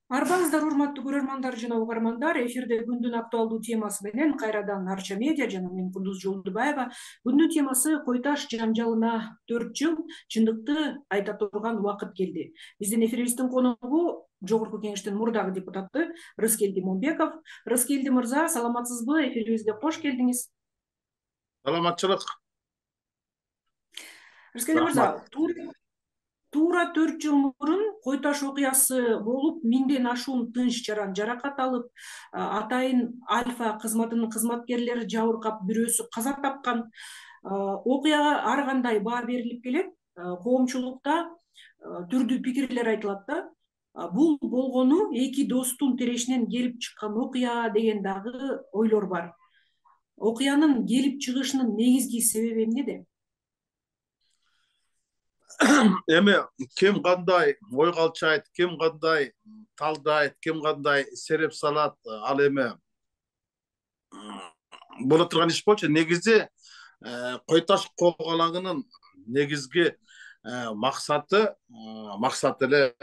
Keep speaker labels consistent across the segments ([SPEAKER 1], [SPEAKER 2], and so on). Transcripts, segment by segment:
[SPEAKER 1] Арбаңыздар урматтуу көрөрмандар жана угармандар, эфирде күндүн актуалдуу темасы менен кайрадан Арча медиа жана мен Кундуз Жолдубаева. Күндүн темасы Кой Таш жаңжалына 4 жыл чындыкты айта турган убакыт келди. Биздин эфирибиздин коногу Жогорку Кеңештин мурдагы депутаты Рыскелди Момбеков. Рыскелди мырза, саламатсызбы? Эфирибизге кош келдиңиз.
[SPEAKER 2] Саламатчылык.
[SPEAKER 1] Рыскелди мырза, туура 4 жыл мурун Кой Таш окуясы болуп, 1000ден ашуун тынч жаран жаракат алып, атайын Альфа кызматынын кызматкерлери жабыркап, бирөөсү каза тапкан. Окуяга ар кандай баа берилип келет. Коомчулукта түрдүү пикирлер айтылат да. Бул болгону эки достун терешинен келип чыккан окуя деген дагы ойлор бар. Окуянын келип чыгышынын негизги себеби эмнеде?
[SPEAKER 2] Эми ким кандай ой калчайт, ким кандай талдайт, ким кандай сереп салат, ал эми боло турган иш болчу. Негизи Кой Таш коогалаңынын негизги максаты эле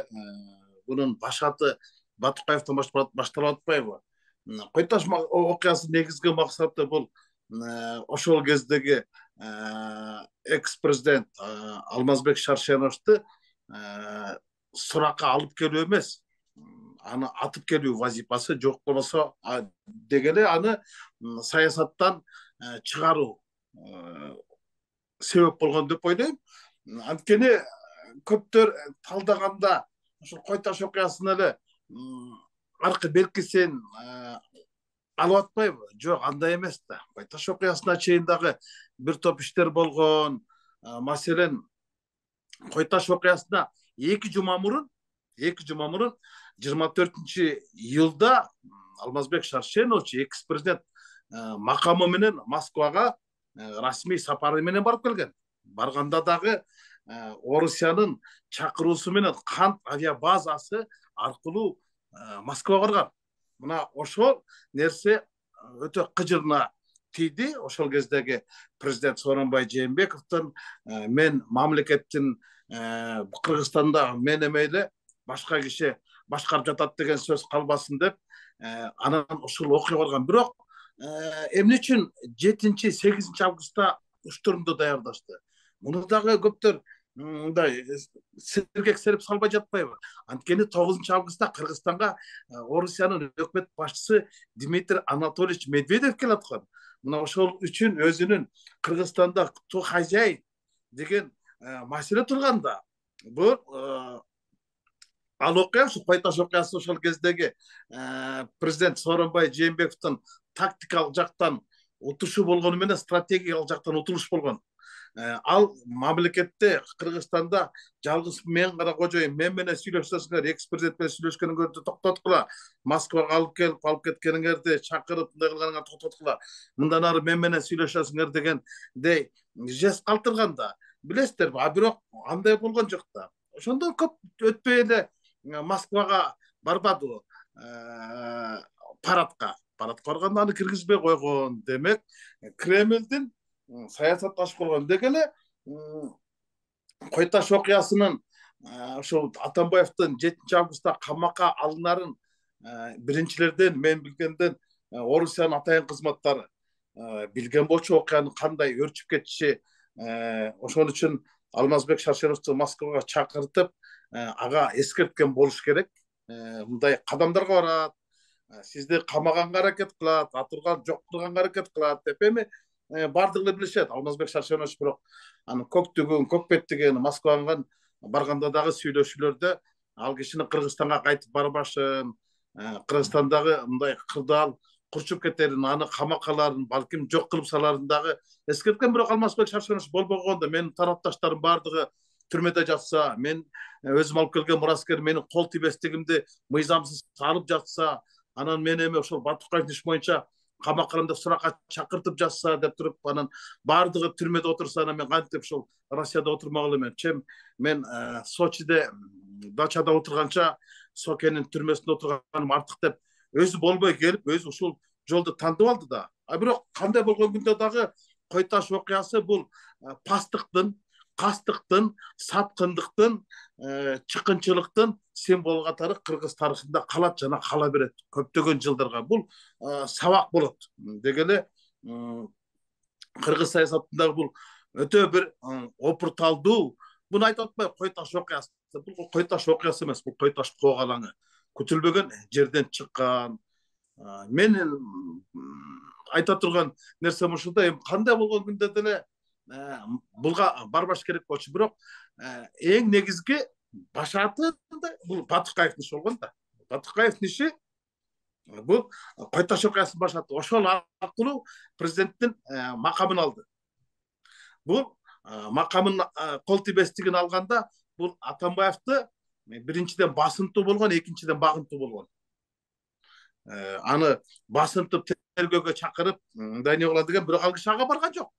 [SPEAKER 2] бунун башаты Батукаевден башталып атпайбы? Кой Таш окуясынын негизги максаты бул ошол кездеги экс-президент Алмазбек Шаршеновду суракка алып келүү эмес, аны атып келүү вазифасы, жок болбосо дегеле аны саясаттан чыгаруу себеп болгон деп ойлойм. Анткени көптөр талдаганда ошол Кой Таш окуясын эле аркы белгисин алып атпайбы? Жок, андай эмес да. Кой Таш окуясына чейин дагы бир топ иштер болгон. Маселен, Кой Таш окуясына 2 жума мурун 24-июлда Алмазбек Шаршенович экс-президент макамы менен Москвага расмий сапары менен барып келген. Барганда дагы Орусиянын чакыруусу менен кант авиабазасы аркылуу Москвага барган. Мына ошол нерсе өтө кыжырына тийди. Ошол кездеги президент Сооронбай Жээнбековдун мен мамлекеттин Кыргызстанда мен эмейле башка киши башкарып жатат деген сөз калбасын деп анан ошол окуя барган. Бирок эмне үчүн 7-8 августта учтурунду даярдашты? Муну дагы көптөр мындай сергек серип салбай жатпайбы? Анткени 9 августта Кыргызстанга Орусиянын өкмөт башчысы Дмитрий Анатольевич Медведев келип аткан. Мына ошол үчүн өзүнүн Кыргызстанда кто хозяин деген маселе турганда, бул ал окуя, Кой Таш окуясы ошол кездеги президент Сооронбай Жээнбековдун тактикалык жактан утушу болгону менен стратегиялык жактан утулуш болгон. Ал мамлекетте Кыргызстанда жалгыз мен гана кожоюн, мен менен сүйлөшсөңөр, экс-президент менен сүйлөшкөнүңөрдү токтоткула, Москвага алып кеткениңерди чакырып мындай кылганыңарды токтоткула, мындан ары мен менен сүйлөшөсүңөр дегендей жест калтырганда, билесиздерби? Бирок андай болгон жок да. Ошондон көп өтпөй эле Москвага барбадыбы? Парадка барганда аны киргизбей койгон. Демек, Кремлдин саясатташып болгон. Деги эле Кой Таш окуясынын ошол Атамбаевдин 7 августта камакка алынарын биринчилерден мен билгенден Орусиянын атайын кызматтары билген болчу, окуянын кандай өрчүп кетиши. Ошон үчүн Алмазбек Шаршеновду Москвага чакыртып, ага эскерткен болуш керек. Мындай кадамдарга барат, сизди камаганга аракет кылат, атырган жок кылганга аракет кылат деп эми бардыгы билишет. Алмазбек Шаршенович бирок аны көктөгөн, көкпеттеген Москвага барганда дагы сүйлөшүүлөрдө ал кишинин Кыргызстанга кайтып барбашын, Кыргызстандагы мындай кырдаал курчуп кетерин, аны камакаларын балким жок кылып саларын дагы эскерткен. Бирок Алмазбек Шаршенович болбогондо, менин тарапташтарым бардыгы түрмөдө жатса, мен өзүм алып келген мураскер менин кол тибестигимди мыйзамсыз алып жатса, анан мен эми ошол Батукаевдин иш боюнча камаккарында суракка чакыртып жатса деп туруп, анан бардыгы түрмөдө отурса, анан мен кантип ушул Россияда отурмак элем? Мен Сочиде дачада отурганча Сокенин түрмөсүндө отурганым артык деп өзү болбой келип, өзү ушул жолду тандып алды да. Бирок кандай болгон күндө дагы Кой Таш окуясы бул пастыктын, кастыктын, саткындыктын, чыкынчылыктын символу катары кыргыз тарыхында калат жана кала берет көптөгөн жылдарга. Бул сабак болот. Деги эле кыргыз саясатындагы бул өтө бир опурталдуу, буну айтып атпайбы, кой таш окуясы. Бул кой таш окуясы эмес, бул кой таш когалаңы. Күтүлбөгөн жерден чыккан. Мен айта турган нерсем ушунда. Эми кандай болгон күндө деле булга барбаш керек болчу, бирок эң негизги башаты бул Батыкаевдин иши болгон да. Батыкаевдин иши бул кой таш окуясынын башаты. Ошол аркылуу президенттин макамын алды. Бул макамын кол тийбестигин алганда бул Атамбаевди биринчиден басынтуу болгон, экинчиден багынтуу болгон. Аны басынтып тергөөгө чакырып, мындай не болот деген бирок ал киши ага барган жок.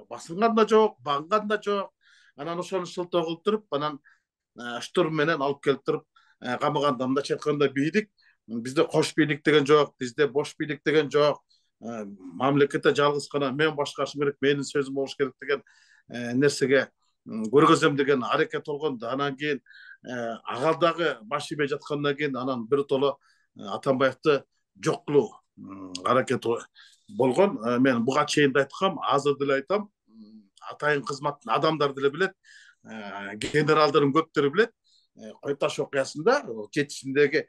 [SPEAKER 2] Басынган да жок, багынган да жок. Анан ошону шылтоо кылып туруп, анан штурм менен алып келип туруп камаганда. Мындайча айтканда бийлик, бизде кош бийлик деген жок, бизде бош бийлик деген жок. Мамлекетте жалгыз гана мен башкарышым керек, менин сөзүм болуш керек деген нерсеге көргөзөм деген аракет болгон. Анан кийин ага дагы баш ийбей жаткандан кийин анан биротоло Атамбаевди жок кылуу аракети болгон. Мен буга чейин да айткам, азыр деле айтам. Атайын кызматтын адамдары деле билет, генералдардын көптөрү билет. Кой таш окуясында 7-синдеги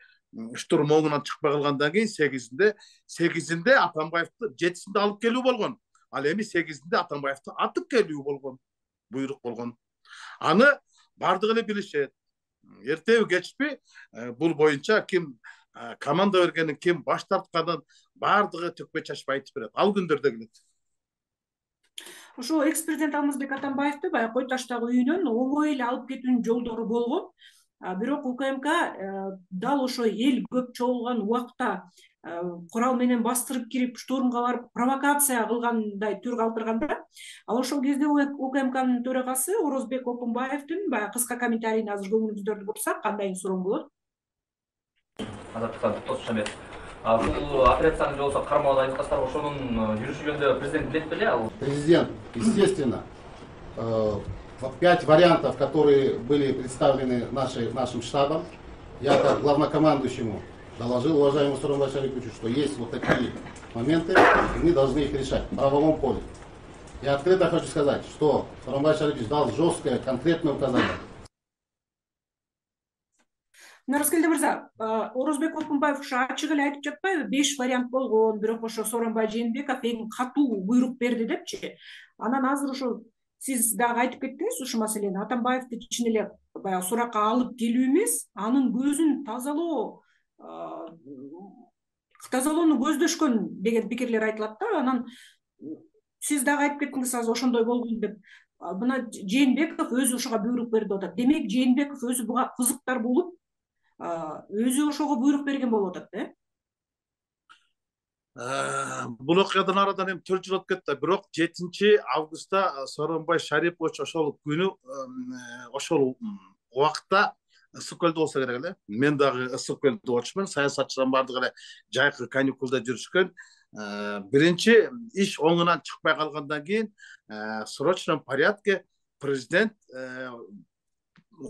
[SPEAKER 2] штурм оңунан чыкпай калгандан кийин 8-inde Атамбаевди 7-синде алып келүү болгон. Ал эми 8-inde Атамбаевди атып келүү болгон, буйрук болгон. Аны бардыгы эле билишет. Эртеби кечпи бул боюнча ким команда бергенин, ким баш тартканын бардыгы төкпөй чачпай айтып берет. Ал күндөрдө келет.
[SPEAKER 1] Ошо экс-президент Алмазбек Атамбаевди баягы Кой таштагы үйүнөн оңой эле алып кетүүнүн жолдору болгон. Бирок УКМК дал ошо эл көп чогулган убакта курал менен бастырып кирип, штурмга барып провокация кылгандай түр калтырганда, ал ошол кезде УКМКнын төрагасы Орозбек Окунбаевдин баягы кыска комментарийин азыр көңүлүңүздөрдү бурсак, кандай суроо болот?
[SPEAKER 3] Бул операцияны болсо кармалган айткандар ошонун жүрүшү жөнүндө президент билет беле?
[SPEAKER 4] Президент, естественно, 5 вариантов, которые были представлены нашим штабом, я как главнокомандующему доложил уважаемому Сооронбаю Шариповичу, что есть вот такие моменты, и мы должны их решать в правовом поле. Я открыто хочу сказать, что Сооронбай Шарипович дал жесткое, конкретное указание.
[SPEAKER 1] Нараскелди мырза, Орозбек Окунбаев ушу ачык эле айтып жатпайбы? 5 вариант болгон, бирок ошо Сооронбай Жээнбеков эң катуу буйрук берди депчи. Анан азыр ошо сиз дагы айтып кеттиңиз ушул маселени. Атамбаевди чын эле баягы суракка алып келүү эмес, анын көзүн тазалоону көздөшкөн деген пикирлер айтылат да. Анан сиз дагы айтып кеттиңиз азыр ошондой болгон деп. Мына Жээнбеков өзү ошого буйрук берди деп атат. Демек Жээнбеков өзү буга кызыктар болуп, өзү ошого буйрук берген болуп атат,
[SPEAKER 2] Бул окуядан арадан эми 4 жыл өтүп кетти. Бирок 7 августта Сооронбай Шарипович ошол күнү, ошол убакта ысык көлдө болсо керек эле. Мен дагы ысык көлдө болчумун. Саясатчылар бардыгы эле жайкы каникулда жүрүшкөн. Биринчи иш оңунан чыкпай калгандан кийин срочном порядке президент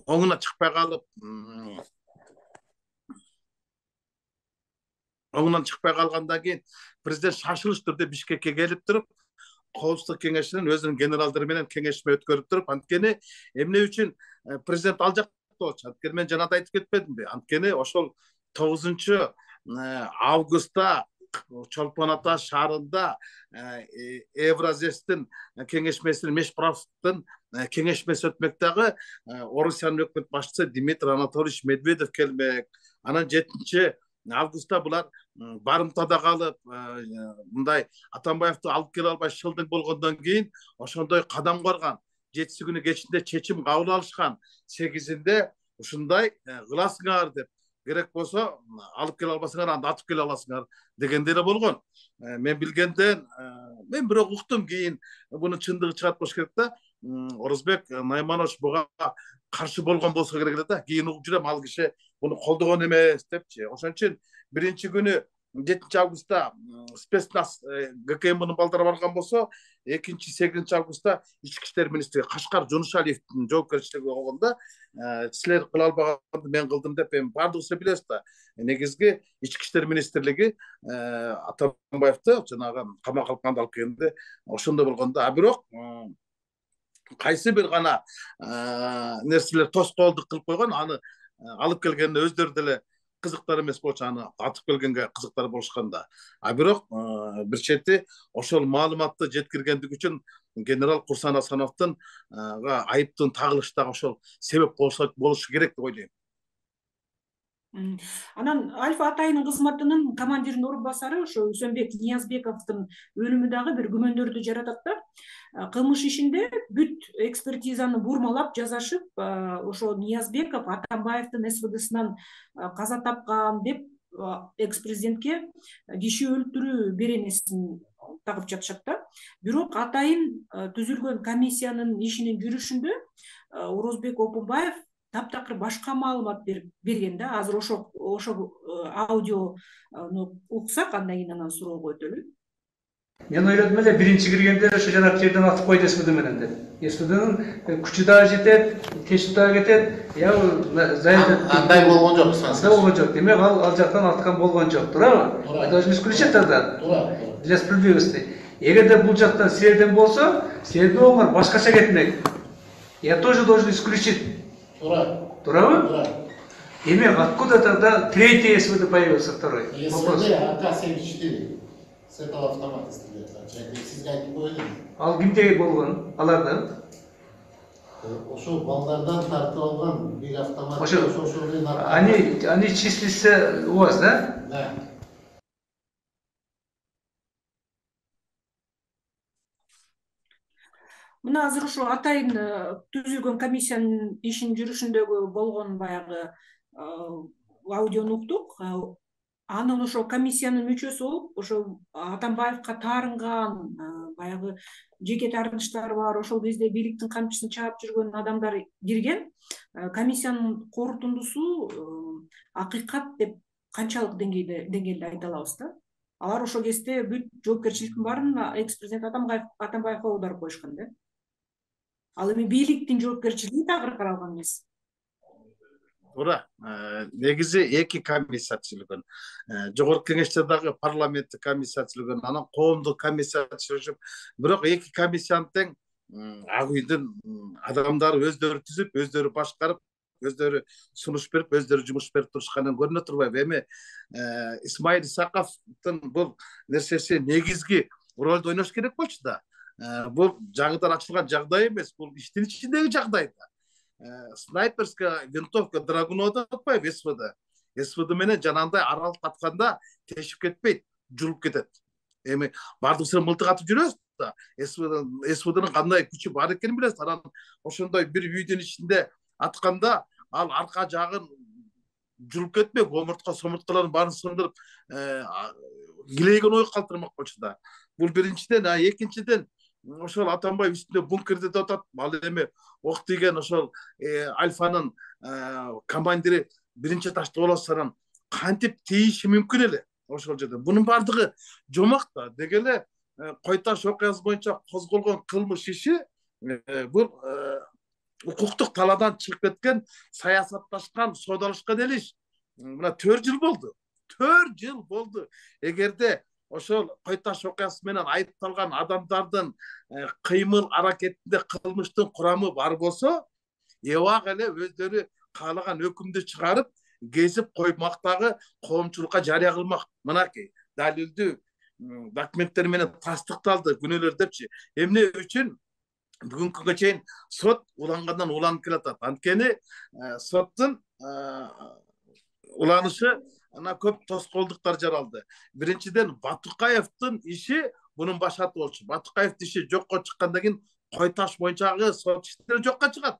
[SPEAKER 2] оңунан чыкпай калып, оңунан чыкпай калгандан кийин президент шашылыш түрдө Бишкекке келип туруп, Коопсуздук кеңешинин өзүнүн генералдары менен кеңешме өткөрүп туруп, анткени эмне үчүн президент ал жакта болчу? Анткени мен жана да айтып кетпедимби? Анткени ошол 9 августта Чолпон Ата шаарында Евразестин кеңешмесинин, Мешправдын кеңешмеси өтмөк дагы. Орусиянын өкмөт башчысы Дмитрий Анатольевич Медведев келмек. Анан 7 августта булар барымтада калып, мындай Атамбаевди алып келе албай шылдың болгондон кийин ошондой кадам корган. 7 күнү кечинде чечим кабыл алышкан. 8-inde ушундай кыласыңар деп, керек болсо алып келе албасаңар, анда атып келе аласыңар дегендей эле болгон. Мен билгенден, мен бирок уктум, кийин буну чындыгы чыгат болуш керек да. Орозбек Найманович буга каршы болгон болсо керек эле да. Кийин угуп жүрөм, ал киши буну колдогон эмес депчи. Ошон үчүн биринчи күнү 7 августта спецназ ГКМбнын балдары барган болсо, 2-8 августта ички иштер министри Кашкар Жонушалиевдин жоопкерчилиги болгондо, силер кыла албаганды мен кылдым деп эми баардыгыбыз билебиз да. Негизги ички иштер министрлиги Атамбаевди жанагы камакка алганда алып келгенде ошондой болгондо, а бирок кайсы бир гана нерселер тоскоолдук кылып койгон, аны алып келгенде өздөрү деле кызыктар эмес болчу, аны атып келгенге кызыктар болушканда. А бирок бир чети ошол маалыматты жеткиргендик үчүн генерал Курсан Асановдун айыптын тагылышы дагы ошол себеп болушу керек деп ойлойм.
[SPEAKER 1] Анан Альфа Атайын кызматынын командиринин орун басары ошо Үсөнбек Ниязбековдун өлүмү дагы бир күмөндөрдү жаратат да. Кылмыш ишинде бүт экспертизаны бурмалап жасашып, ошо Ниязбеков Атамбаевдин СВДсынан каза тапкан деп экс-президентке киши өлтүрүү беренесин тагып жатышат да. Бирок Атайын түзүлгөн комиссиянын ишинин жүрүшүндө Орозбек Опунбаев таптакыр башка маалымат берген да. Азыр ошо аудиону уксак, андан кийин анан суроого өтөлү.
[SPEAKER 5] Мен ойлодум эле биринчи киргенде ошо жанагы жерден атып койду СВД менен деп. СВДнын күчү дагы жетет, тешип дагы кетет.
[SPEAKER 4] Андай болгон жок.
[SPEAKER 5] Андай болгон жок. Демек ал жактан аткан болгон жок, туурабы? Мы должны исключить тогда.
[SPEAKER 4] Туура.
[SPEAKER 5] Для справедливости. Эгерде бул жактан силерден болсо, силердин оңор башкача кетмек. Я тоже должен исключить. Туурабы?
[SPEAKER 4] Тура.
[SPEAKER 5] Демек откуда тогда третий СВД появился, второй?
[SPEAKER 4] СВД АК-74. С этого автомата стреляет. Сизге айтып коелу.
[SPEAKER 5] Ал кимде болгон? Алардан?
[SPEAKER 4] Ошо балдардан тартып алган бир автомат.
[SPEAKER 5] Они числятся у вас, да?
[SPEAKER 4] Да.
[SPEAKER 1] Мына азыр ошо Атайын түзүлгөн комиссиянын ишинин жүрүшүндөгү болгон баягы аудиону уктук. Анын ошо комиссиянын мүчөсү болуп, ошо Атамбаевка таарынган баягы жеке таарынычтары бар, ошол кезде бийликтин камчысын чаап жүргөн адамдар кирген. Комиссиянын корутундусу акыйкат деп канчалык деңгээлде айта алабыз да. Алар ошол кезде бүт жоопкерчиликтин баарын экс-президент Атамбаевга аударып коюшкан да. Ал эми бийликтин жоопкерчилиги тагыр каралган эмес.
[SPEAKER 2] Туура. Негизи 2 комиссия түзүлгөн. Жогорку кеңеште дагы парламенттик комиссия түзүлгөн, анан коомдук комиссия түзүлүп, бирок 2 комиссиянын тең ак үйдүн адамдары өздөрү түзүп, өздөрү башкарып, өздөрү сунуш берип, өздөрү жумуш берип турушканын көрүнө турбайбы? Эми Исмаил Исаковдун бул нерсеси негизги ролду ойнош керек болчу да. Бул жаңыдан ачылган жагдай эмес, бул иштин ичиндеги жагдай да. Снайперская винтовка Драгунова атпайбы СВД. СВД менен жанагындай аралык атканда тешип кетпейт, жулуп кетет. Эми баардыгыбыз мылтык атып жүрөбүз да. СВДнын кандай күчү бар экенин билебиз. Анан ошондой бир үйдүн ичинде атканда ал арка жагын жулуп кетпек, омуртка-сомурткаларын баарын сындырып, килейген ой калтырмак болчу да. Бул биринчиден, экинчиден ошол Атамбаев үстүндө бункерде деп атат. Ал эми ок тийген ошол Альфанын командири биринчи ташты болосонан кантип тийиши мүмкүн эле ошол жерде. Бунун баардыгы жомак да. Деги эле Кой Таш окуясы боюнча козголгон кылмыш иши бул укуктук талаадан чыгып кеткен, саясатташкан, соодалашкан эл иш. Мына 4 жыл болду. 4 жыл болду. Эгерде ошол Кой Таш окуясы менен айыпталган адамдардын кыймыл аракетинде кылмыштын курамы бар болсо, эбак эле өздөрү каалаган өкүмдү чыгарып, кезип коймактагы коомчулукка жарыя кылмак. Мынакей далилдүү документтер менен тастыкталды күнөөлөр депчи. Эмне үчүн бүгүнкү күнгө чейин сот улангандан уланып келатат. Анткени соттун уланышы ана көп тоскоолдуктар жаралды. Биринчиден Батукаевдин иши бунун башаты болчу. Батукаевдин иши жокко чыккандан кийин Кой Таш боюнчагы сот иштери жокко чыгат.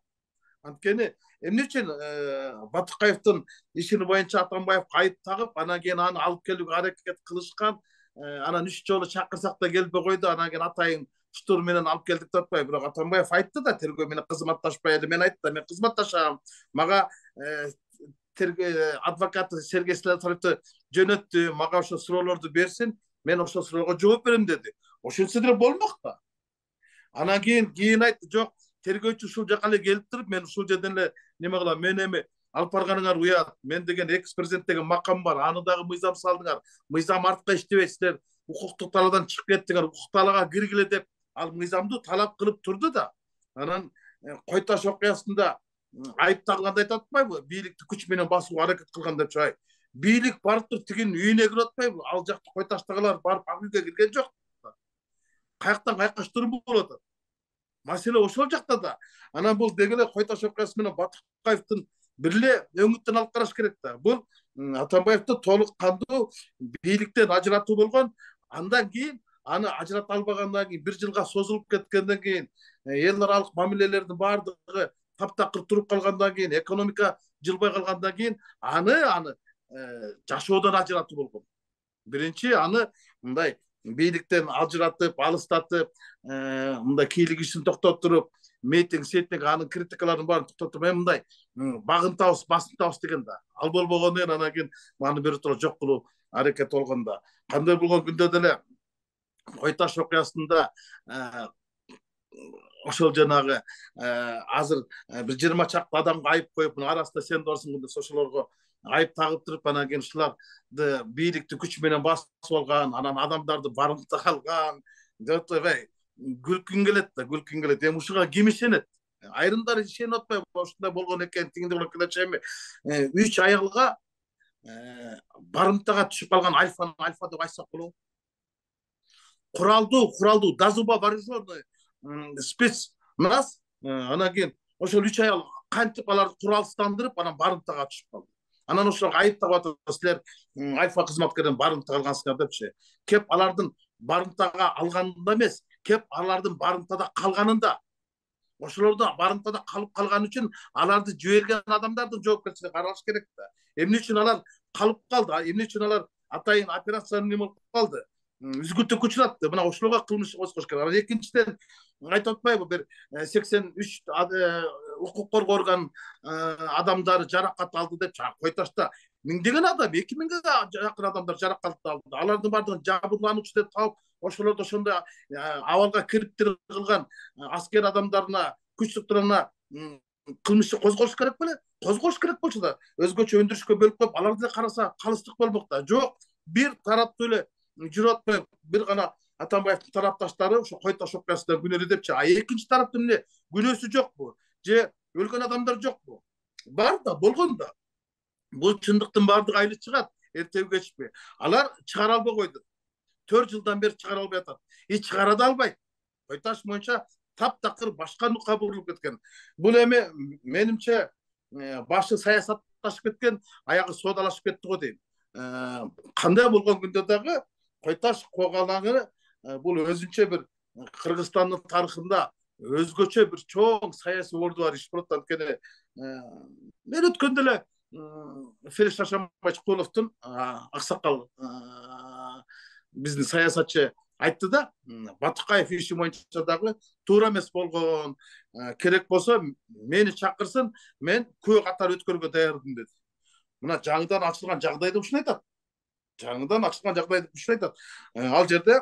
[SPEAKER 2] Анткени эмне үчүн Батукаевдин ишини боюнча Атамбаевга айып тагып, анан кийин аны алып келүүгө аракет кылышкан, анан 3 жолу чакырсак да келбей койду, анан кийин Атайын штурм менен алып келдик деп атпайбы? Бирок Атамбаев айтты да, тергөө менен кызматташпай эле. Мен айттым, мен кызматташам. Мага адвокаты Сергей Слесаревди жөнөттү, мага ошо суроолорду берсин, мен ошол суроого жооп берем деди. Ошентсе деле болмок да. Анан кийин айтты, жок, тергөөчү ушул жака эле келип туруп, мен ушул жерден эле неме кылам, мен эми алып барганыңар уят, мен деген экс-президент деген макам бар, аны дагы мыйзам салдыңар, мыйзам артка иштебейт, силер укуктук талаадан чыгып кеттиңер, укук талаага киргиле деп ал мыйзамды талап кылып турду да. Анан Кой Таш окуясында айыпталганда айтып атпайбы, бийликти күч менен басууга аракет кылган деп чыгайт. Бийлик барып туруп тигинин үйүнө кирип атпайбы, ал жакта Кой Таштагылар барып ал үйгө кирген жок. Каяктан каяка штурм болуп атат. Маселе ошол жакта да. Анан бул деги эле Кой Таш окуясы менен Батыкаевдин бир эле өңүттөн алып караш керек да. Бул Атамбаевди толук кандуу бийликтен ажыратуу болгон. Андан кийин аны ажырата албагандан кийин, 1 жылга созулуп кеткенден кийин, эл аралык мамилелердин баардыгы таптакыр туруп калгандан кийин, экономика жылбай калгандан кийин аны жашоодон ажыратуу болгон. Биринчи аны мындай бийликтен ажыратып, алыстатып, мындай кийлик ишин токтотуруп, митинг, анын критикаларын баарын токтотуп, мындай багынтабыз, басынтабыз деген да. Ал болбогондон кийин анан кийин аны биротоло жок кылуу аракет болгон да. Кандай болгон күндө деле Кой Таш окуясында ошол жанагы азыр бир 20 чакты адамга айып коюп, арасында сен барсың деп ошолорго айып тагып туруп, анан кийин ушуларды бийликти күч менен басып алган, анан адамдарды барымтага алган деп атпайбы, күлкүң келет да, күлкүң келет. Эми ушуга ким ишенет? Айрымдар ишенип атпайбы, ушундай болгон экен, тигиндей болгон экен. 3 аялга барымтага түшүп калган альфа деп айтсак болобу? Куралдуу дазуба вооруженный спецназ, анан кийин ошол 3 аял кантип аларды куралсыздандырып, анан барымтага түшүп калды. Анан ошолорго айыптап атат, силер альфа кызматкерден барымтага алгансыңар депчи. Кеп алардын барымтага алганында эмес, кеп алардын барымтада калганында. Ошолорду барымтада калып калган үчүн аларды жиберген адамдардын жоопкерчилиги каралыш керек да. Эмне үчүн алар калып калды? Эмне үчүн алар атайын операцияны неме кылып калды? Үзгүлтүккө учуратты. Мына ошолорго кылмыш козгош керек. Анан экинчиден айтып атпайбы, бир 83 укук коргоо орган адамдары жаракат алды деп. Кой Ташта миңдеген адам, 2000ге жакын адамдар жаракат алды. Алардын баардыгын жабырлануучу деп таап, ошолорду ошондой абалга кириптир кылган аскер адамдарына, күч структураларына кылмыш козгош керек беле? Козгош керек болчу да, өзгөчө өндүрүшкө бөлүп коюп, аларды караса калыстык болмок да. Жок, бир тараптуу эле жүрүп атпайбы, бир гана Атамбаевдин тарапташтары ошо Кой Таш окуясында күнөөлүү депчи. Экинчи тараптын эмне күнөөсү жокпу? Же өлгөн адамдар жокпу? Бар да, болгон да. Бул чындыктын баардыгы айлы чыгат, эртеби кечпи. Алар чыгара албай койду. 4 жылдан бери чыгара албай атат. Чыгара да албайт. Кой Таш боюнча таптакыр башка нукка бурулуп кеткен. Бул эми менимче башы саясатташып кеткен, аягы соодалашып кетти го дейм. Кандай болгон күндө дагы Кой Таш когалаңы бул өзүнчө бир Кыргызстандын тарыхында өзгөчө бир чоң саясий орду бар иш болот. Анткени мен өткөндө эле Фелix Шашамбай-Чкуловдун аксакал биздин саясатчы айтты да, Батыкаев иши боюнча дагы туура эмес болгон, керек болсо мени чакырсын, мен көө катары өткөргө даярмын деди. Мына жаңыдан ачылган жагдайды ушуну айтат. Жаңыдан ачылган жагдайды ушуну айтат. Ал жерде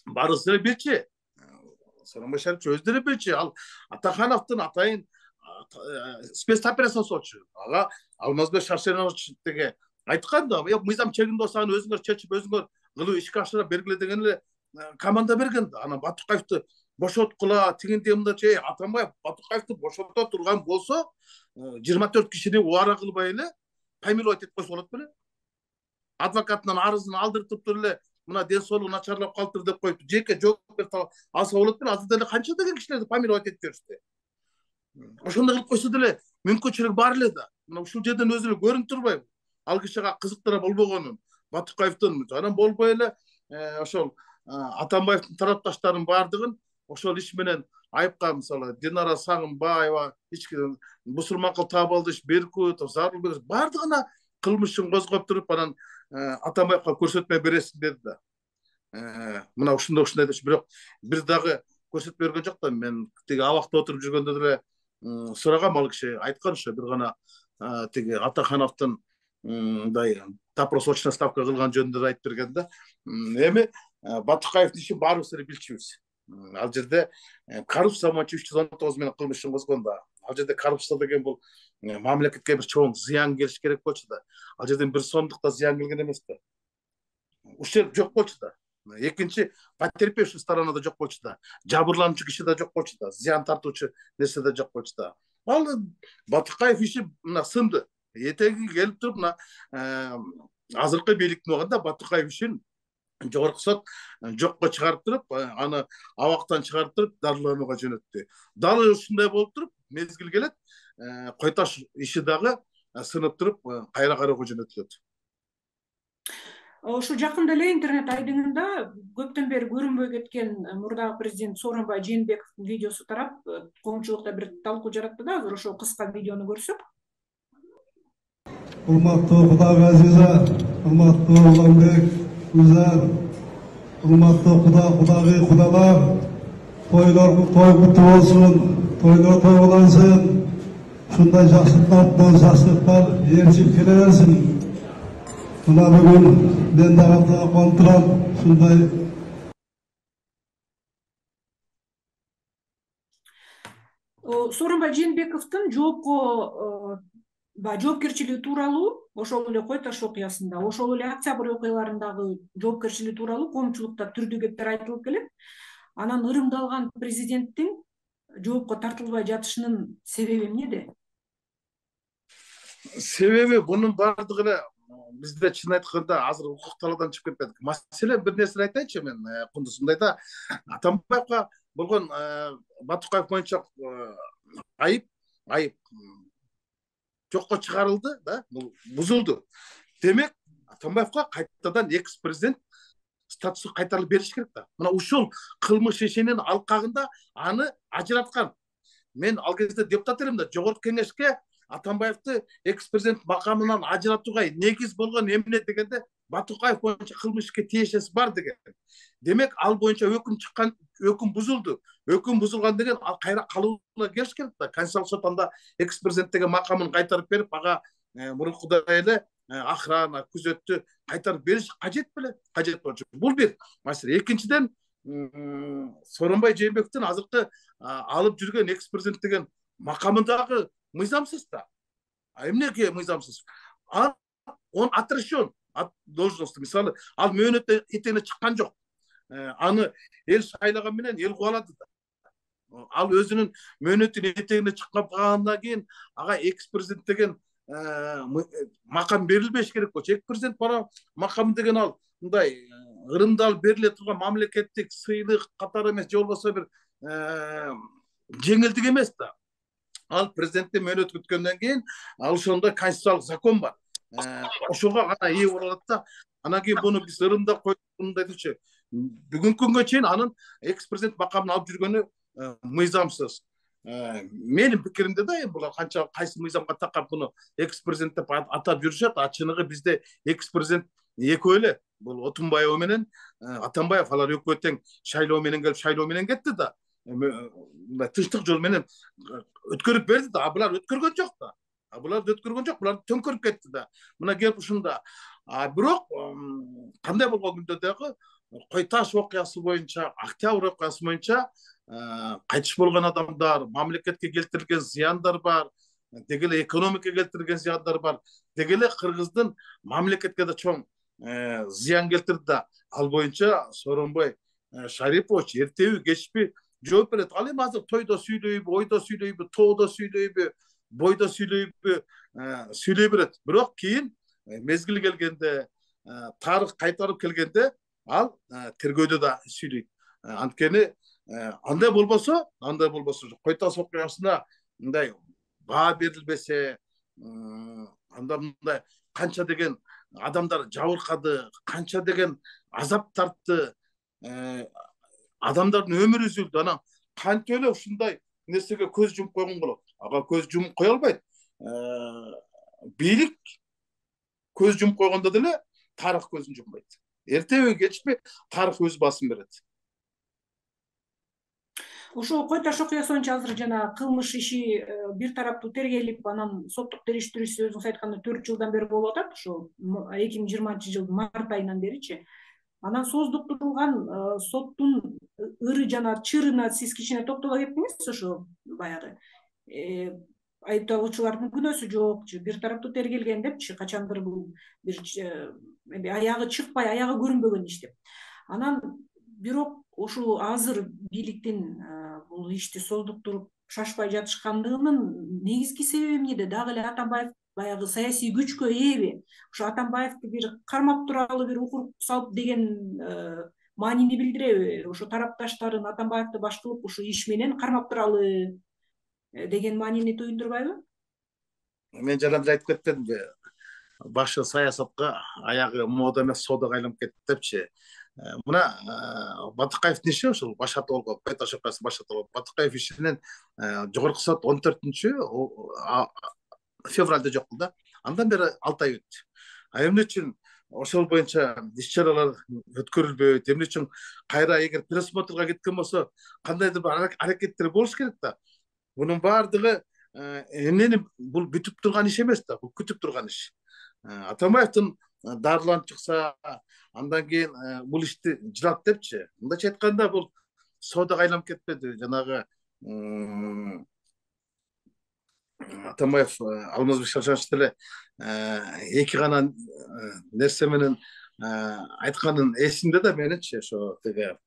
[SPEAKER 2] барысы эле билчи. Сооронбай Шарипович өздөрү билчи. Ал Атахановдун атайын спецоперация жасоочу. Ага Алмазбек Шаршенович деге айткан да, мыйзам чегинде болсо аны өзүңөр чечип, өзүңөр кылуу ишке ашыра бергиле деген эле команда берген да. Анан Батыкаевди бошоткула, тигинде мындача, Атамбаев Батыкаевди бошото турган болсо, 24 кишини убара кылбай эле помиловать этип койсо болот беле? Адвокатынан арызын алдыртып туруп эле, мына ден соолугу начарлап калыптыр деп коюп, жеке жоопкерчилик алса болот беле? Азыр деле канча деген кишилерди помиловать этип беришти. Ошондой кылып койсо деле мүмкүнчүлүк бар эле да. Мына ушул жерден өзү эле көрүнүп турбайбы? Ал кишиге кызыктыра болбогонун, Батыкаевдин анан болбой эле ошол Атамбаевдин тарапташтарынын баардыгын ошол иш менен айыпка, мисалы Динара Сагынбаева, Бусурмакул Табалдыш, Беркутов, Зарылбек баардыгына кылмышын козгоп туруп, анан Атамбаевга көрсөтмө бересиң деди да. Мына ушундай депчи, бирок бир дагы көрсөтмө берген жок да. Мен тиги абакта отуруп жүргөндө деле сурагам, ал киши айткан ошо бир гана тиги Атахановдун мындай допросочная ставка кылган жөнүндө айтып берген да. Эми Батукаевдин ишин баарыбыз эле билчүбүз. Ал жерде коррупция боюнча 319 менен кылмыш ишин козгон да. Ал жерде коррупция деген бул мамлекетке бир чоң зыян келиш керек болчу да. Ал жерден 1 сомдук да зыян келген эмес да. Ущерб жок болчу да. Экинчи, потерпевший сторонада жок болчу да. Жабырлануучу киши да жок болчу да. Зыян тартуучу нерсе да жок болчу да. Ал Батукаев иши мына сынды. Этеги келип туруп мына азыркы бийликтин убагында Батукаев ишин жогорку сот жокко чыгарып туруп, аны абактан чыгарып туруп дарыланууга жөнөттү. Дал ушундай болуп туруп, мезгил келет, Койташ иши дагы сынып туруп, кайра кароого жөнөтүлөт.
[SPEAKER 1] Ошо жакында эле интернет айдыңында көптөн бери көрүнбөй кеткен мурдагы президент Сооронбай Жээнбековдун видеосу тарап, коомчулукта бир талкуу жаратты да. Азыр ошо кыска видеону көрсөк.
[SPEAKER 6] Урматтуу Кудагы Азиза, урматтуу Уланбек, Гүлзар, урматтуу Кудагы кудалар, тойлор той куттуу болсун, тойлор тойлансын, ушундай жакшылыктар ээрчип келе берсин. Мына бүгүн мен дагы контрол ушундай.
[SPEAKER 1] Сооронбай Жээнбековдун жоопкерчилиги тууралуу, ошол эле Койташ окуясында, ошол эле Октябрь окуяларындагы жоопкерчилиги тууралуу коомчулукта түрдүү кептер айтылып келет. Анан ырымдалган президенттин жоопко тартылбай жатышынын себеби эмнеде?
[SPEAKER 2] Себеби бунун бардыгы эле бизде чын айтканда азыр укук талаадан чыгып кетпедик. Маселен бир нерсени айтайынчы мен, Кундуз, мындайда Атамбаевга болгон Батукаев боюнча айып жокко чыгарылды да, бул бузулду. Демек, Атамбаевга кайтадан экс-президент статусу кайтарылып бериш керек да. Мына ушул кылмыш ишинин алкагында аны ажыраткан. Мен ал кезде депутат элем да, жогорку кеңешке Атамбаевди экс-президент макамынан ажыратууга негиз болгон эмне дегенде Батукаев боюнча кылмышка тиешеси бар деген. Демек, ал боюнча өкүм бузулду. Өкүм бузулган деген ал кайра калууна келиш керек да. Конституциялык сот анда экс-президент деген макамын кайтарып берип, ага мурункудай эле охрана, күзөттү кайтарып бериш кажет беле? Кажет болчу. Бул бир маселе. Экинчиден, Сооронбай Жээнбековдун азыркы алып жүргөн экс-президент деген макамындагы мыйзамсыз да. Эмнеге мыйзамсыз? Он отрешен от должности. Мисалы, ал мөөнөттө этене чыккан жок. Аны эл шайлаган менен эл кубалады да. Ал өзүнүн мөөнөтүн этегине чыккан калгандан кийин ага экс-президент деген макам берилбеш керек болчу. Экс-президент бара макам деген ал мындай ырымдалып бериле турган мамлекеттик сыйлык катары эмес, же болбосо бир жеңилдик эмес да. Ал президенттин мөөнөт күткөндөн кийин ал ошондой конституциялык закон бар. Ошого гана ээ боло алат да. Анан кийин буну биз ырымдап койдук, мындай дечи. Бүгүнкү күнгө чейин анын экс-президент макамын алып жүргөнү мыйзамсыз. Менин пикиримде да, булар канча кайсы мыйзамга такап буну экс-президент деп атап жүрүшөт, чыныгы бизде экс-президент экөө эле. Бул Отунбаева менен Атамбаев, алар экөө тең шайлоо менен келип, шайлоо менен кетти да. Тынчтык жол менен өткөрүп берди да. Булар өткөргөн жок да. Булар төңкөрүп кетти да. Мына келип ушунда. Бирок кандай болгон күндө дагы Койташ окуясы боюнча, Октябрь окуясы боюнча кайтыш болгон адамдар, мамлекетке келтирилген зыяндар бар, деги эле экономикага келтирилген зыяндар бар, деги эле Кыргыздын мамлекетке да чоң зыян келтирди да. Ал боюнча Сооронбай Шарипович эртеби кечпи жооп берет. Ал эми азыр тойдо сүйлөйбү, ойдо сүйлөйбү, тоодо сүйлөйбү, бойдо сүйлөйбү, сүйлөй берет. Бирок кийин мезгили келгенде, тарых кайтарып келгенде ал тергөөдө да сүйлөйт. Анткени андай болбосо Койташ окуясына мындай баа берилбесе, анда мындай канча деген адамдар жабыркады, канча деген азап тартты, адамдардын өмүрү үзүлдү. Анан кантип эле ушундай нерсеге көз жумуп койгон болот? Ага көз жумуп кое албайт. Бийлик көз жумуп койгондо деле тарых көзүн жумбайт. Эртеби кечпи тарых өз басын берет.
[SPEAKER 1] Ошо кой таш окуясы боюнча азыр жана кылмыш иши бир тараптуу тергелип, анан соттук териштирүүсү өзүңүз айткандай 4 жылдан бери болуп атат, ошо 2020-жылдын март айынан беричи. Анан сооздуктурулган соттун ыры жана чырына сиз кичине токтоло кеттиңиз. Ошо баягы айыпталуучулардын күнөөсү жокчу, бир тараптуу тергелген депчи, качандыр бул бир аягы чыкпай, аягы көрүнбөгөн иш деп. Анан бирок ушул азыр бийликтин бул ишти сооздуктуруп шашпай жатышкандыгынын негизги себеби эмнеде? Дагы эле Атамбаев баягы саясий күчкө ээби? Ошо Атамбаевди бир кармап туралы бир укук салып деген маанини билдиреби? Ошо тарапташтарын Атамбаевди баш кылып ушу иш менен кармап туралы деген маанини туюндурбайбы?
[SPEAKER 2] Мен жана айтып кетпедимби? Башы саясатка, аягы мода эмес содага айланып кетти депчи. Мына Батыкаевдин иши ошол башат болгон, Кайташ окуясы башат болгон. Батыкаев ишинен жогорку сот 14 февралда жок кылды. Андан бери 6 ай өттү. Эмне үчүн ошол боюнча иш-чаралар өткөрүлбөйт? Эмне үчүн кайра эгер пересмотрга кеткен болсо, кандайдыр бир аракеттер болуш керек да. Бунун баардыгы эмнени бул бүтүп турган иш эмес да, бул күтүп турган иш. Атамбаевдин дарыланып чыкса, андан кийин бул ишти жылат депчи. Мындайча айтканда бул содага айланып кетпеди. Жанагы Атамбаев Алмазбек Шаршанович деле эки гана нерсе менен айтканын эсимде да меничи, ошо теге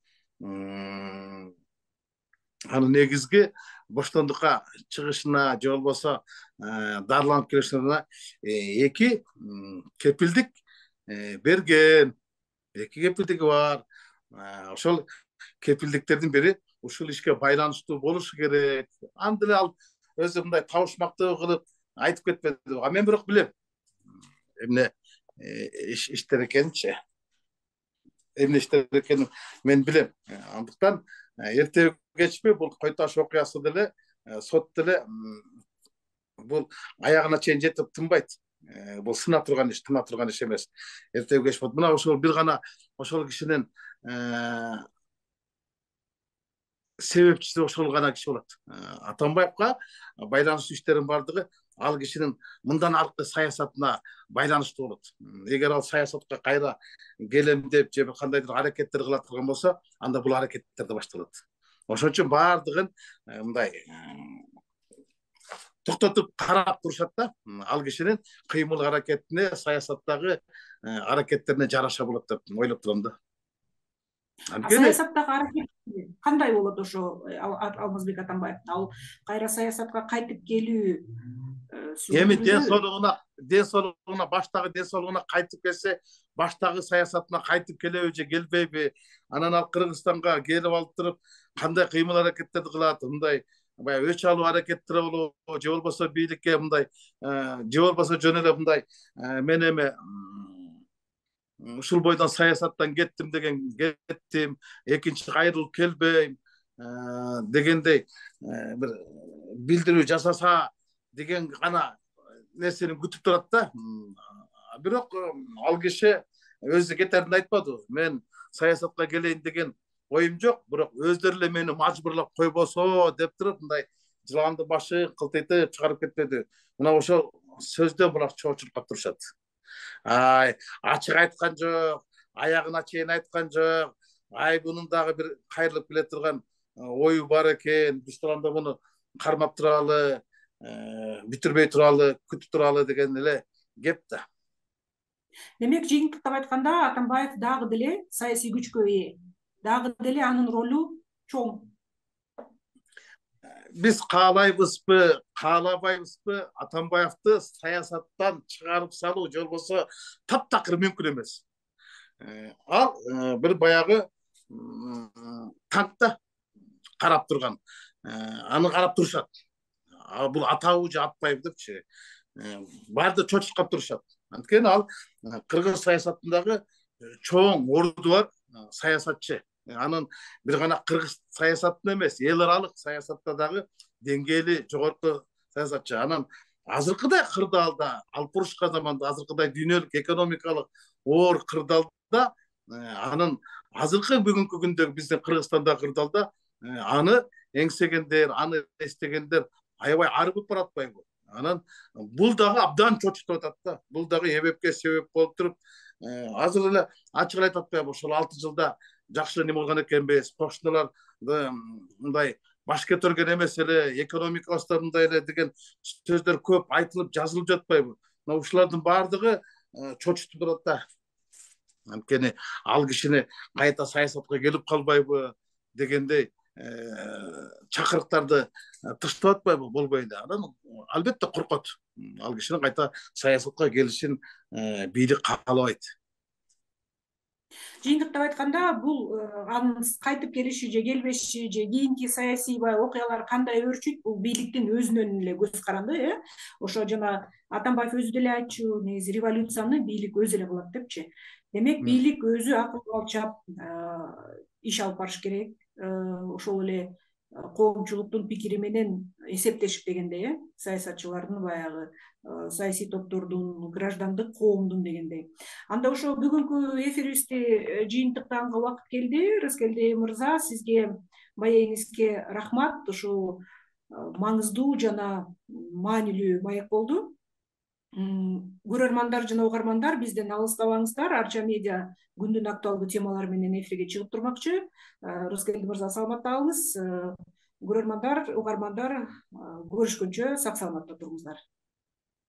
[SPEAKER 2] анын негизги боштондукка чыгышына же болбосо дарыланып келишине эки кепилдик берген. Эки кепилдиги бар. Ошол кепилдиктердин бири ушул ишке байланыштуу болушу керек. Анда эле ал өзү мындай табышмактуу кылып айтып кетпеди. Мен бирок билем эмне иштер экенинчи. Эмне иштер экенин мен билем. Андыктан эртеби кечпи бул Койташ окуясы деле сот деле бул аягына чейин жетип тынбайт. Бул сына турган иш, тына турган иш эмес. Эртеби кеч болот. Мына ошол бир гана ошол кишинин себепчиси ошол гана киши болот. Атамбаевга байланыштуу иштердин бардыгы ал кишинин мындан аркы саясатына байланыштуу болот. Эгер ал саясатка кайра келем деп же кандайдыр аракеттер кыла турган болсо, анда бул аракеттер да башталат. Ошон үчүн бардыгын мындай токтотуп карап турушат да. Ал кишинин кыймыл аракетине, саясаттагы аракеттерине жараша болот деп ойлоп турам да.
[SPEAKER 1] Саясаттагы аракет кандай болот ошо Алмазбек Атамбаев? Ал кайра саясатка кайтып келүү
[SPEAKER 2] эми ден соолугуна баштагы ден соолугуна кайтып келсе, баштагы саясатына кайтып келеби же келбейби? Анан ал Кыргызстанга келип алып туруп кандай кыймыл аракеттерди кылат? Мындай баягы өч алуу аракеттери болобу же болбосо бийликке мындай же болбосо жөн эле мындай мен эми ушул бойдон саясаттан кеттим деген кеттим, экинчи кайрылып келбейм дегендей бир билдирүү жасаса деген гана нерсени күтүп турат да. Бирок ал киши өзү кетеринде айтпады. Мен саясатка келейин деген оюм жок, бирок өздөрү эле мени мажбурлап койбосо деп туруп мындай жыланды башы кылтыйтып чыгарып кетпеди. Мына ошол сөздөн була чоочулуп калып турушат. Ачык айткан жок, аягына чейин айткан жок. Бунун дагы бир кайрылып келе турган ою бар экен. Биз турганда муну кармап туралы, бүтүрбөй туралы, күтүп туралы деген эле кеп да.
[SPEAKER 1] Демек, жыйынтыктап айтканда, Атамбаев дагы деле саясий күчкө ээ. Дагы деле анын ролу чоң.
[SPEAKER 2] Биз каалайбызбы, каалабайбызбы, Атамбаевди саясаттан чыгарып салуу же болбосо таптакыр мүмкүн эмес. Ал бир баягы танкта карап турган. Аны карап турушат. Бул атабы же атпайбы депчи. Барды чочуп калып турушат. Анткени ал кыргыз саясатындагы чоң орду бар саясатчы. Анын бир гана кыргыз саясатында эмес, эл аралык саясатта дагы деңгээли жогорку саясатчы. Анан азыркыдай кырдаалда, алпурушка заманда азыркыдай дүйнөлүк экономикалык оор кырдаалда анын азыркы бүгүнкү күндөгү биздин Кыргызстандагы кырдаалда аны эңсегендер, аны эстегендер аябай арбып баратпайбы? Анан бул дагы абдан чочутуп атат да. Бул дагы эбепке себеп болуп туруп, азыр эле ачык эле айтып атпайбы? Ошол 6 жылда жакшы неме кылган экенбиз, кошуналар мындай баш көтөргөн эмес эле, экономикабызда мындай эле деген сөздөр көп айтылып, жазылып жатпайбы? Мына ушулардын баардыгы чочутуп турат да. Анткени ал кишини кайта саясатка келип калбайбы дегендей чакырыктарды тыштап атпайбы? Болбой эле. Анан албетте коркот. Ал кишинин кайта саясатка келишин бийлик каалабайт.
[SPEAKER 1] Жыйынтыктап айтканда, бул анын кайтып келиши же келбеши же кийинки саясий окуялар кандай өрчүйт, бул бийликтин өзүнөн эле көз каранды, Ошо жана Атамбаев өзү деле айтчу, негизи революцияны бийлик өзү эле кылат депчи. Демек, бийлик өзү акыл алчап иш алып барыш керек. Ошол эле коомчулуктун пикири менен эсептешип дегендей, саясатчылардын баягы саясий топтордун, граждандык коомдун дегендей. Анда ошо бүгүнкү эфирибизди жыйынтыктаганга убакыт келди. Рыскелди мырза, сизге, маегиңизге рахмат. Ушул маңыздуу жана маанилүү маек болду. Көрөрмандар жана угармандар, бизден алыстабаңыздар. Арча медиа күндүн актуалдуу темалары менен эфирге чыгып турмакчы. Рыскелди мырза, саламатта калыңыз. Көрөрмандар, угармандар, көрүшкөнчө сак саламатта туруңуздар.